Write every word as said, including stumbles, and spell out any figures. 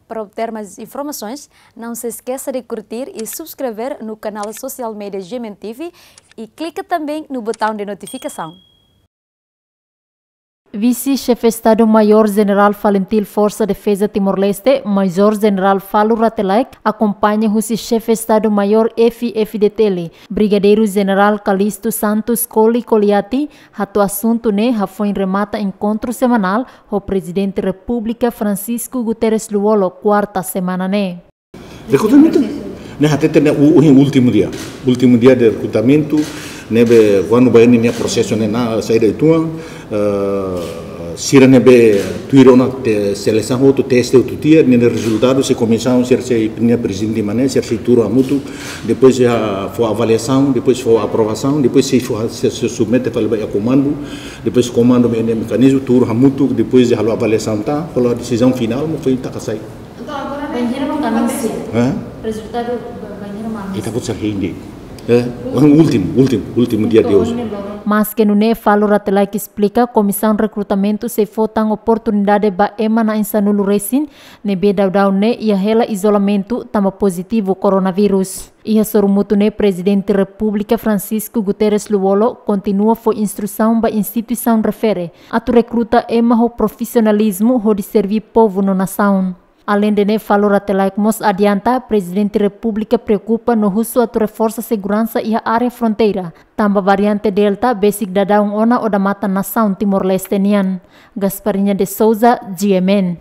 Para obter mais informações, não se esqueça de curtir e subscrever no canal social media G M N T V e clica também no botão de notificação. Vise-Xefe Estadu-Maiór Jenerál Falintil Forsa Defeza Timor-Leste, Major Jenerál Falo Rate Laek, akompaña husi Xefe Estadu-Maiór F-FDTL, Brigadeiru Jenerál Calixto Santos Coli Coliati, hato'o asuntu ne'e hafoin remata enkontru semanál ho Prezidente Repúblika Francisco Guterres Lú-Olo, kuarta semana ne'e. Rekrutamentu ne'e hatete ne'e u-, ohin últimu dia. Últimu dia de rekrutamentu, ne'ebé kuandu ba ninia prosesu ne'e na saida uitoan, eh, sira ne'ebé tuir ona te selesaun hotu, teste hotu tiha, ninia rezultadu sei komisaun, sira sei, ninia prezidente mane, sira sei tuur hamutuk, depois sei fó avaliasaun, depois fó aprovasaun, depois sei fó, sei, sei submete fali ba iha komandu, depois komandu ne'e mekanizmu, tuur hamutuk, depois halo avaliasaun tan, halo desizaun finál, mós foin taka sai. Bainhira mak anunsia. Hã? Rezultadu ba-, bainhira mak anunsia. Ita-boot sira hein de'it. Eh, ohin últimu, últimu, últimu dia de hoje. Maske nune'e, Falo Rate Laek esplika, komisaun rekrutamentu sei fó tan oportunidade ba ema na'in sanulu resin, ne'ebé daudaun ne'e iha hela izolamentu tanba pozitivu koronavírus. Iha sorumutu ne'e, Prezidente Repúblika Francisco Guterres Lú-Olo kontinua fó instrusaun ba instituisaun refere atu rekruta ema ho profisionalizmu hodi serví povu no nasaun. Aleinde ne'e, Falo Rate Laek mós adianta, Prezidente Repúblika preokupa no husu atu reforsa seguransa iha área fronteira, tanba variante Delta besik daudaun ona odamatan nasaun Timor-Leste nian. Gasparinha de Souza, G M N.